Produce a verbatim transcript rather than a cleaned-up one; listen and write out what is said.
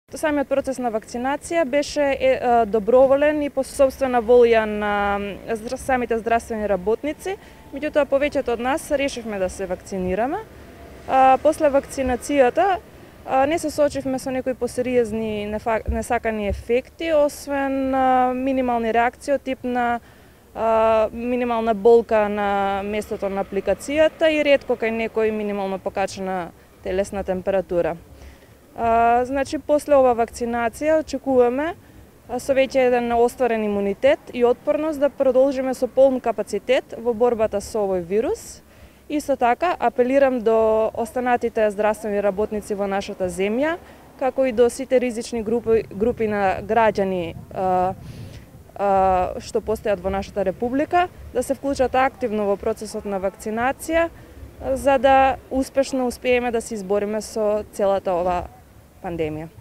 Самиот процес на вакцинација беше е, доброволен и по собствена волја на самите здравствени работници, меѓутоа повеќето од нас решивме да се вакцинираме. А, после вакцинацијата а, не се соочивме со некои посериозни несакани ефекти, освен а, минимални реакции од тип на а, минимална болка на местото на апликацијата и ретко кај некој минимално покачена телесна температура. А, значи, после ова вакцинација очекуваме со веќе еден остварен имунитет и отпорност да продолжиме со полн капацитет во борбата со овој вирус. Исто така, апелирам до останатите здравствени работници во нашата земја, како и до сите ризични групи, групи на граѓани а, а, што постојат во нашата република, да се вклучат активно во процесот на вакцинација, за да успешно успееме да се избориме со целата ова пандемија.